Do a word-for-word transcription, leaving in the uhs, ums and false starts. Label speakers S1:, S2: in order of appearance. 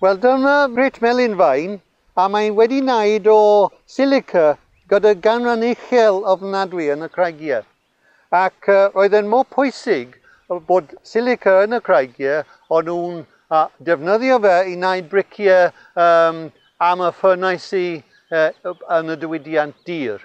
S1: Wel, dyma Great Melyn Faen, a mae'n wedi wneud o silica gyda ganran uchel ofnadwy yn y creigiau. Ac uh, roedd e'n mor pwysig bod silica yn y creigiau, o'n nhw'n uh, defnyddio fe i wneud briciau um, am y ffwrnaisi uh, yn y diwydiant dur.